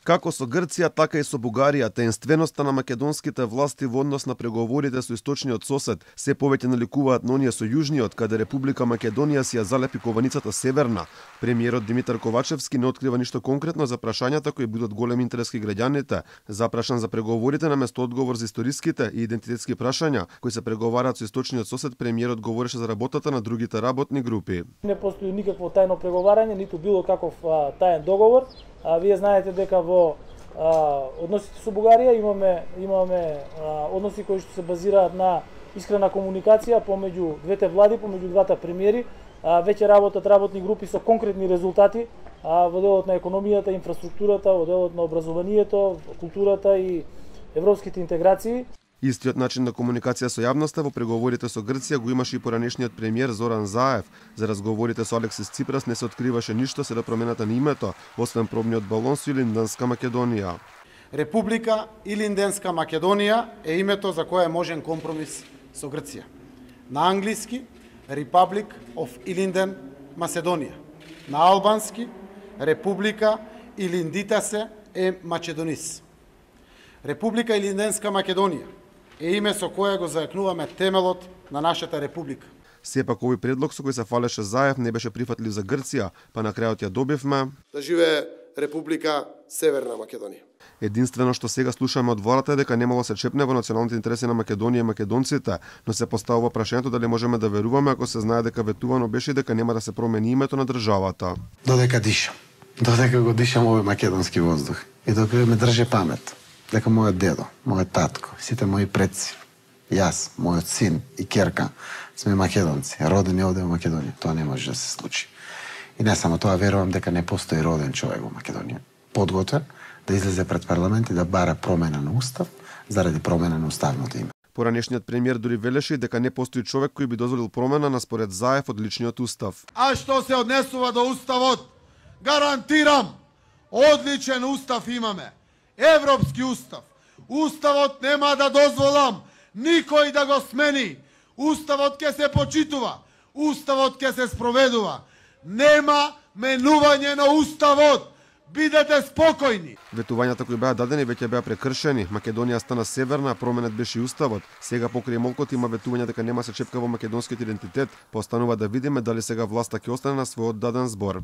Како со Грција, така и со Бугарија, таинственоста на македонските власти во однос на преговорите со источниот сосед се повеќе наликуваат на оние со южниот, каде Република Македонија си ја залепи кованицата северна. Премиерот Димитар Ковачевски не открива ништо конкретно за прашањата кои будат голем интерес кај граѓаните. Запрашан за преговорите наместо одговор за историските и идентитетски прашања кои се преговараат со источниот сосед, премиерот говореше за работата на другите работни групи. Не постои никакво тајно преговарање, ниту било каков таен договор. Вие знаете дека во односите со Бугарија имаме односи кои што се базираат на искрена комуникација помеѓу двете влади, помеѓу двата премиери. Веќе работат работни групи со конкретни резултати во делот на економијата, инфраструктурата, во делот на образованието, културата и европските интеграции. Истиот начин на комуникација со јавноста во преговорите со Грција го имаше и поранешниот премиер Зоран Заев. За разговорите со Алексис Ципрас не се откриваше ништо се да промената на името, освен пробниот балон со Илинденска Македонија. Република Илинденска Македонија е името за кое е можен компромис со Грција. На англиски Republic of Ilinden Macedония. На албански Република Илиндитасе е Македонис. Република Илинденска Македонија е име со кое го зајакнуваме темелот на нашата република. Сепак овој предлог со кој се фалеше Заев не беше прифатлив за Грција, па на крајот ја добивме да живее Република Северна Македонија. Единствено што сега слушаме од владата е дека немало се чепне во националните интереси на Македонија и македонците, но се поставува прашањето дали можеме да веруваме ако се знае дека ветувано беше дека нема да се промени името на државата. Додека дишам, додека го дишам овој македонски воздух и додека ме држи памет дека мојот дедо, мојот татко, сите мои предци, јас, мојот син и ќерка сме македонци, родени овде во Македонија. Тоа не може да се случи. И не само тоа, верувам дека не постои роден човек во Македонија подготвен да излезе пред парламент и да бара промена на устав заради промена на уставното име. Поранешниот премиер дури велеше дека не постои човек кој би дозволил промена на според Заев од личниот устав. А што се однесува до уставот, гарантирам, одличен устав имаме. Европски устав. Уставот нема да дозволам никој да го смени. Уставот ќе се почитува. Уставот ќе се спроведува. Нема менување на уставот. Бидете спокојни. Ветувањата кои беа дадени веќе беа прекршени. Македонија стана северна, променет беше и уставот. Сега покрај молкот има ветување дека нема се чепка во македонскиот идентитет. Постанува да видиме дали сега власта ќе остане на својот даден збор.